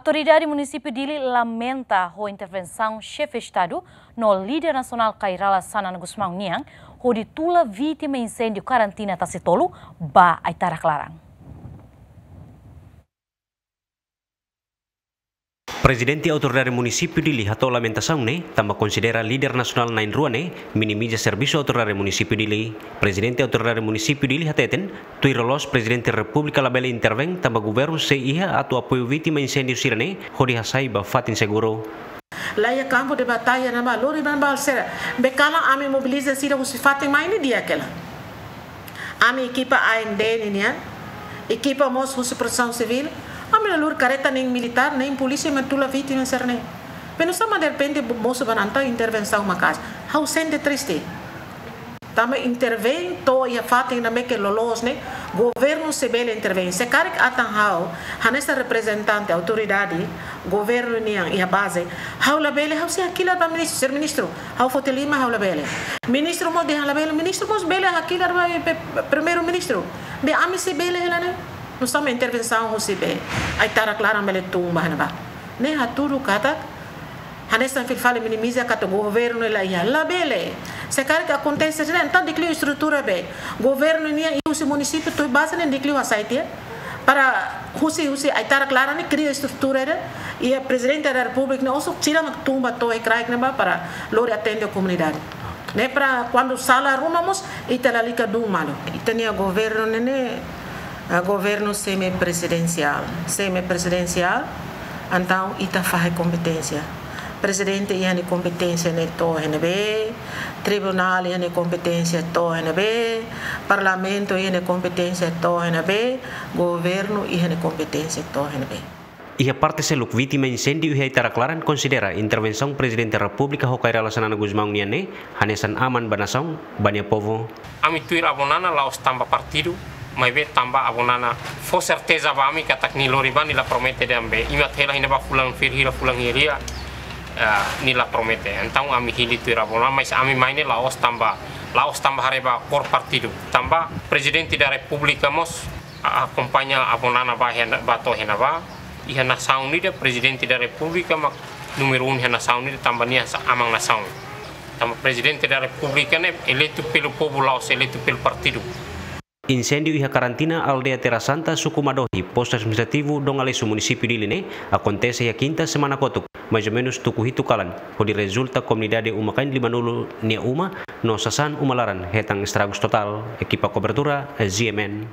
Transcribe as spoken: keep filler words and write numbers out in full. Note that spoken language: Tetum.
Autoridade Munisípiu Dili lamenta ho intervensaun Xefe Estadu no Líder Nasionál Kay Rala Xanana Gusmão nian hodi tula vítima inséndiu Karantina Tasi Tolu ba Aitarak Laran. Prezidente Autoridade Munisípiu Dili hato'o lamentasaun ne'e tanba konsidera líder nasionál na'in-rua ne'e minimiza servisu Autoridade Munisípiu Dili. Prezidente Autoridade Munisípiu Dili hateten, tuir loloos Prezidente Repúblika labele intervein tanba governu sei iha atu apoiu vítima inséndiu sira-ne'e hodi hasai ba fatin seguru. La iha kampu de batalla ne'ebá, lori ban bal sera. Be kalan ami mobiliza sira husi fatin mai ne'e di'ak hela. Ami ekipa A N D nian, ekipa mós husi Protesaun Sivíl, ami la lori karreta nein militár, nein polísia mai tula vítima sira-ne'e. Be nusá mak derrepente mosu ba nanta intervensaun maka'as. Ha'u sente triste. Tanba intervein to'o iha fatin ne'ebé ke loloos ne'e, governu sei bele intervein. Se karik atan ha'u, hanesan reprezentante autoridade governu nian iha baze, ha'u labele, ha'u sei hakilar ba ministru, señór ministru, ha'u foti liman, ha'u labele. Ministru mós dehan labele, ministru mós bele hakilar ba pe-, primeiru-ministru. Be ami sei bele hela ne'e. Nusá mak intervensaun husi be Aitarak Laran bele tun ba iha ne'ebá. Ne'e hatudu katak, hanesan fila fali minimiza katak governu la iha, labele. Se karik akontese ne'e, entaun dekliu estrutura be. Governu nian iha husi munisípiu to'o baze ne'e dekliu hasai tiha. Para husi, husi Aitarak Laran ne'e kria estrutura ne'e. Iha Prezidente da Repúblika ne'e oso sira mak tun ba to'o kraik ne'ebá para lori atende komunidade. Ne'e para kuandu sala ruma mós, ita lalika dún malu. Ita-nia governu ne'e, ne'e, ah, governu semi-prezidensiál. Semi-prezidensiál, entaun ita fahe kompeténsia. Prezidente iha nia kompeténsia ne'e to'o iha ne'ebé, tribunál iha nia kompeténsia to'o iha ne'ebé, parlamentu iha nia kompeténsia to'o iha ne'ebé, governu iha nia kompeténsia to'o iha ne'ebé. Iha parte seluk, vítima inséndiu iha Aitarak Laran konsidera intervensaun Prezidente Repúblika ho Kay Rala Xanana Gusmão nian ne'e hanesan aman ba nasaun, ba nia povu. Ami tuir Avó Nana la'ós tanba partidu, maibé tanba Avó Nana fó serteza ba ami katak nia lori ba, nia la promete dehan be, imat hela iha ne'ebá fulan fir hira, fulan hira, eh, nia la promete. Entaun ami hili tuir Avó Nana, mas ami mai ne'e la'ós tanba, la'ós tanba haree ba kór partidu. Tanba Prezidente da Repúblika mós a-, akompaña Avó Nana ba iha, ba to'o iha ne'ebá. Iha nasaun ida, Prezidente da Repúblika mak númeru um iha nasaun ida, tanba nia hanesan aman nasaun. Tanba Prezidente da Repúblika ne'e eleitu pelo povu, la'ós eleitu pelo partidu. Inséndiu iha Karantina, aldeia Terra Santa, suku Madohi, postu administrativu Dom Aleixo, munisípiu Dili ne'e akontese iha kinta semana kotuk, mais ou menus tuku hitu kalan, hodi rezulta komunidade uma-kain limanulu nia uma no sasán uma laran hetan estragus totál. Ekipa kobertura, G M N.